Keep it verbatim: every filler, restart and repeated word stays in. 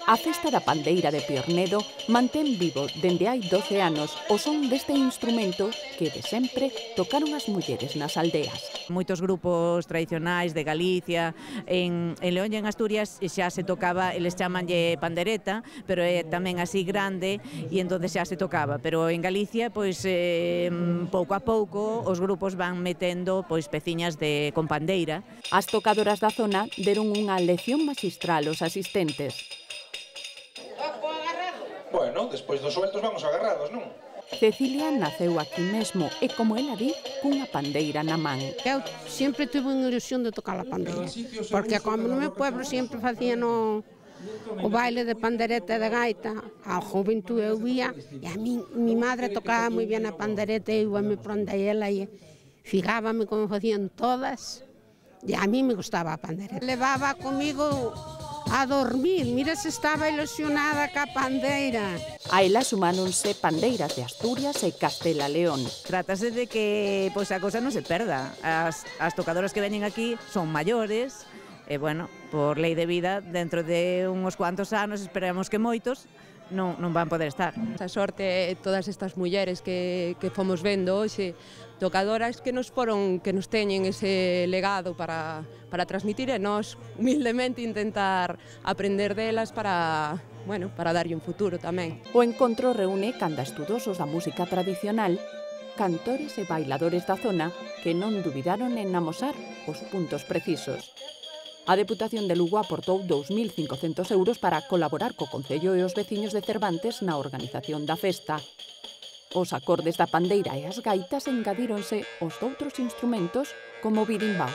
A Festa da Pandeira de Piornedo mantén vivo dende hai doce anos o son deste instrumento que de sempre tocaron as mulleres nas aldeas. Moitos grupos tradicionais de Galicia, en, en León e en Asturias xa se tocaba, eles chamanlle pandereta, pero é tamén así grande e entón xa se tocaba, pero en Galicia pois eh, pouco a pouco os grupos van metendo pois peciñas de con pandeira. As tocadoras da zona deron unha lección maxistral aos asistentes. Bueno, despois dos sueltos vamos agarrados, non? Cecilia naceu aquí mesmo e, como ela di, cunha pandeira na man. Eu sempre tuve unha ilusión de tocar a pandeira, porque como no meu pueblo sempre facían o, o baile de pandereta e de gaita, ao juventud eu vía, e a mi, mi madre tocaba moi bien a pandereta, e eu me prondei ela e fijábame como facían todas, e a mí me gustaba a pandereta. Levaba comigo a dormir, mira se estaba ilusionada ca pandeira. A ela sumáronse pandeiras de Asturias e Castela León. Trátase de que pois a cosa non se perda. As, as tocadoras que veñen aquí son maiores, e, bueno, por lei de vida, dentro de uns cuantos anos, esperamos que moitos, non, non van poder estar. A sorte, todas estas mulleres que, que fomos vendo hoxe, tocadoras que nos foron, que nos teñen ese legado para, para transmitir e nós humildemente intentar aprender delas para, bueno, para darlle un futuro tamén. O encontro reúne canda estudosos da música tradicional, cantores e bailadores da zona que non dubidaron en amosar os puntos precisos. A Deputación de Lugo aportou dous mil cincocentos euros para colaborar co Concello e os veciños de Cervantes na organización da festa. Os acordes da pandeira e as gaitas engadíronse os doutros instrumentos como o birimbao.